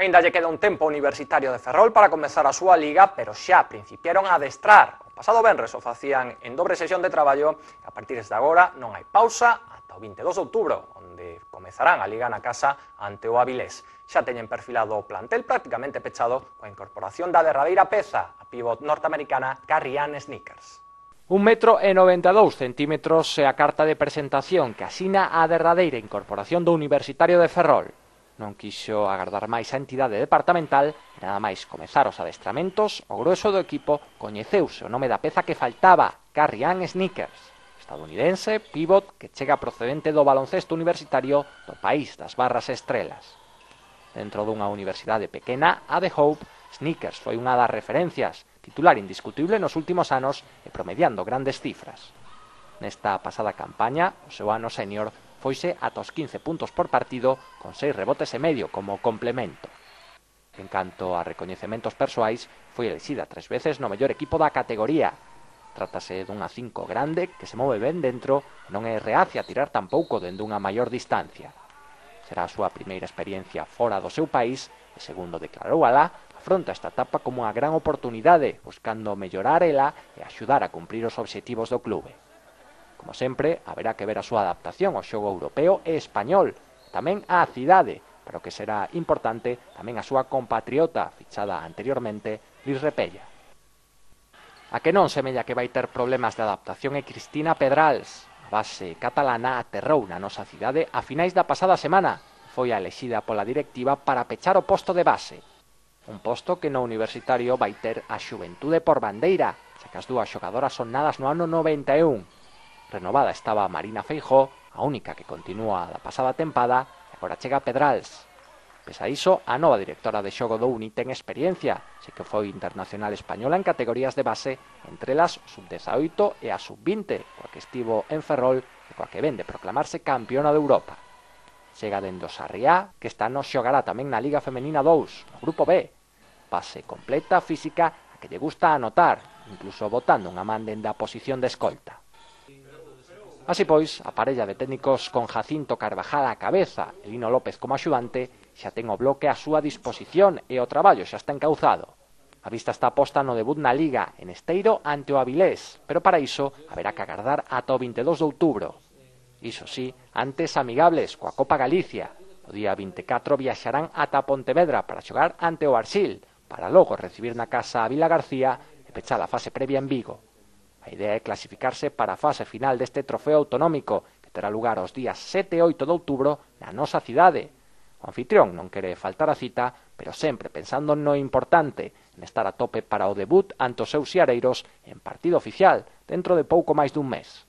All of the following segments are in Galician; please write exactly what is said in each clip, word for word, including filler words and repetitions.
Ainda lle queda un tempo Universitario de Ferrol para comezar a súa liga, pero xa principiaron a adestrar. O pasado venres o facían en dobre sesión de traballo e a partir de agora non hai pausa ata o vinte e dous de outubro, onde comezarán a liga na casa ante o Avilés. Xa teñen perfilado o plantel prácticamente pechado coa incorporación da derradeira peza, a pívot norteamericana Carrie Ann Snickers. Un metro e noventa e dous centímetros é a carta de presentación que asina a derradeira incorporación do Universitario de Ferrol. Non quixo agardar máis a entidade departamental e nada máis comezar os adestramentos, o grueso do equipo coñeceuse o nome da peza que faltaba, Carrie Ann Snickers, estadounidense, pívot que chega procedente do baloncesto universitario do país das barras estrelas. Dentro dunha universidade pequena, a de Hope, Snickers foi unha das referencias, titular indiscutible nos últimos anos e promediando grandes cifras. Nesta pasada campaña, o seu ano senior foise ata os quince puntos por partido con seis rebotes e medio como complemento. En canto a recoñecementos persoais, foi elixida tres veces no mellor equipo da categoría. Trátase dunha cinco grande que se move ben dentro e non é reacia a tirar tampouco dende unha maior distancia. Será a súa primeira experiencia fora do seu país e, segundo declarou alá, afronta esta etapa como unha gran oportunidade, buscando mellorar ela e axudar a cumprir os obxectivos do clube. Como sempre, haberá que ver a súa adaptación ao xogo europeo e español, tamén á cidade, pero que será importante tamén a súa compatriota, fichada anteriormente, Liz Repella. A que non semella que vai ter problemas de adaptación é Cristina Pedrals. A base catalana aterrou na nosa cidade a finais da pasada semana. Foi a elexida pola directiva para pechar o posto de base. Un posto que no Universitario vai ter a xuventude por bandeira, xa que as dúas xogadoras son nadas no ano noventa e un. Renovada estaba Marina Feijó, a única que continúa da pasada tempada, e agora chega Pedrals. Pese a iso, a nova directora de xogo do Uni ten experiencia, xe que foi internacional española en categorías de base, entre elas sub dezaoito e a sub vinte, coa que estivo en Ferrol e coa que ven de proclamarse campeona de Europa. Chega dende o Sarriá, que esta nos xogará tamén na Liga Femenina dous, no Grupo B. Base completa, física, a que lle gusta anotar, incluso botando unha man dende a posición de escolta. Así pois, a parella de técnicos con Jacinto Carvajal á cabeza e Lino López como axudante xa ten o bloque á súa disposición e o traballo xa está encauzado. A vista está posta no debut na Liga en Esteiro ante o Avilés, pero para iso haberá que agardar ata o vinte e dous de outubro. Iso sí, antes amigables coa Copa Galicia. O día vinte e catro viaxarán ata Pontevedra para xogar ante o Arxil, para logo recibir na casa a Vila García e pechar a fase previa en Vigo. A idea é clasificarse para a fase final deste trofeo autonómico, que terá lugar os días sete e oito de outubro na nosa cidade. O anfitrión non quere faltar a cita, pero sempre pensando no importante, en estar a tope para o debut ante os seus siareiros en partido oficial, dentro de pouco máis dun mes.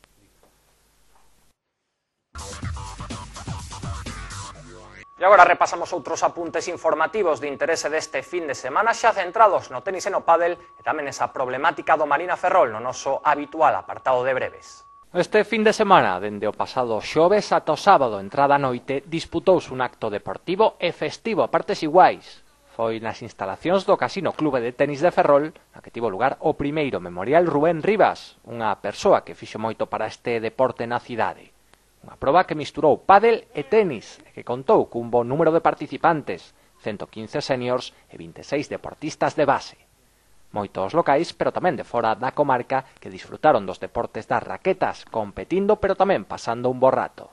E agora repasamos outros apuntes informativos de interese deste fin de semana, xa centrados no tenis e no pádel e tamén esa problemática do Marina Ferrol no noso habitual apartado de breves. Este fin de semana, dende o pasado xoves ata o sábado entrada a noite, disputouse un acto deportivo e festivo a partes iguais. Foi nas instalacións do Casino Clube de Tenis de Ferrol, na que tivo lugar o primeiro memorial Rubén Rivas, unha persoa que fixo moito para este deporte na cidade. Unha proba que misturou pádel e tenis e que contou cun bon número de participantes, ciento quince seniors e vinte e seis deportistas de base. Moitos locais, pero tamén de fora da comarca, que disfrutaron dos deportes das raquetas, competindo pero tamén pasando un bo rato.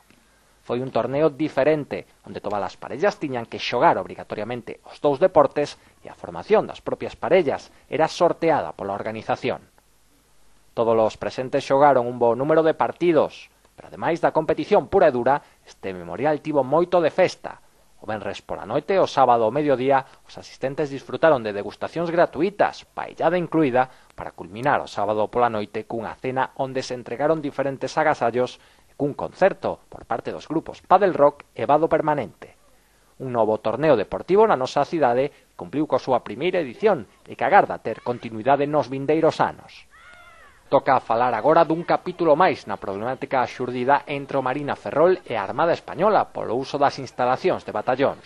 Foi un torneo diferente, onde todas as parellas tiñan que xogar obrigatoriamente os dous deportes e a formación das propias parellas era sorteada pola organización. Todos os presentes xogaron un bo número de partidos, pero ademais da competición pura e dura, este memorial tivo moito de festa. O venres pola noite e o sábado ao mediodía, os asistentes disfrutaron de degustacións gratuitas, paellada incluída, para culminar o sábado pola noite cunha cena onde se entregaron diferentes agasallos e cun concerto por parte dos grupos Padel Rock e Vado Permanente. Un novo torneo deportivo na nosa cidade cumpliu coa súa primeira edición e que agarda ter continuidade nos vindeiros anos. Toca falar agora dun capítulo máis na problemática xurdida entre o Marina Ferrol e a Armada Española polo uso das instalacións de batallóns.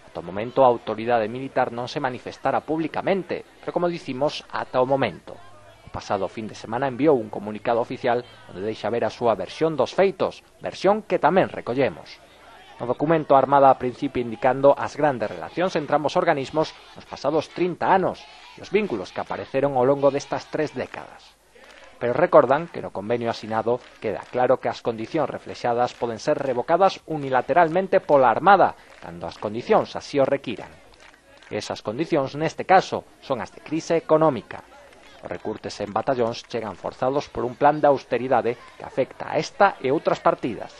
Ata o momento a autoridade militar non se manifestara públicamente, pero como dicimos, ata o momento. O pasado fin de semana enviou un comunicado oficial onde deixa ver a súa versión dos feitos, versión que tamén recollemos. No documento a Armada a principio indicando as grandes relacións entre ambos organismos nos pasados trinta anos e os vínculos que apareceron ao longo destas tres décadas. Pero recordan que no convenio asinado queda claro que as condicións reflexadas poden ser revocadas unilateralmente pola Armada cando as condicións así o requiran. Esas condicións, neste caso, son as de crise económica. Os recurtes en batallóns chegan forzados por un plan de austeridade que afecta a esta e outras partidas.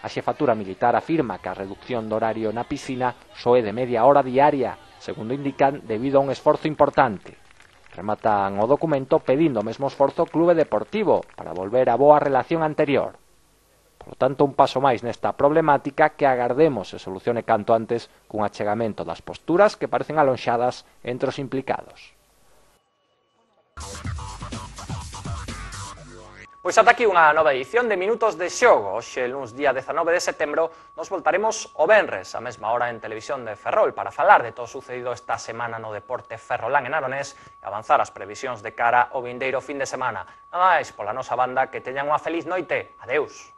A xefatura militar afirma que a reducción do horario na piscina só é de media hora diaria, segundo indican, debido a un esforzo importante. Rematan o documento pedindo o mesmo esforzo ao clube deportivo para volver á boa relación anterior. Por lo tanto, un paso máis nesta problemática que agardemos se solucione canto antes cun achegamento das posturas que parecen alonxadas entre os implicados. Pois ata aquí unha nova edición de Minutos de Xogo. Hoxe, luns día dezanove de setembro, nos voltaremos o venres, a mesma hora en Televisión de Ferrol, para falar de todo o sucedido esta semana no deporte ferrolán en Aronés e avanzar as previsións de cara ao vindeiro fin de semana. Nada máis pola nosa banda, que teñan unha feliz noite. Adeus.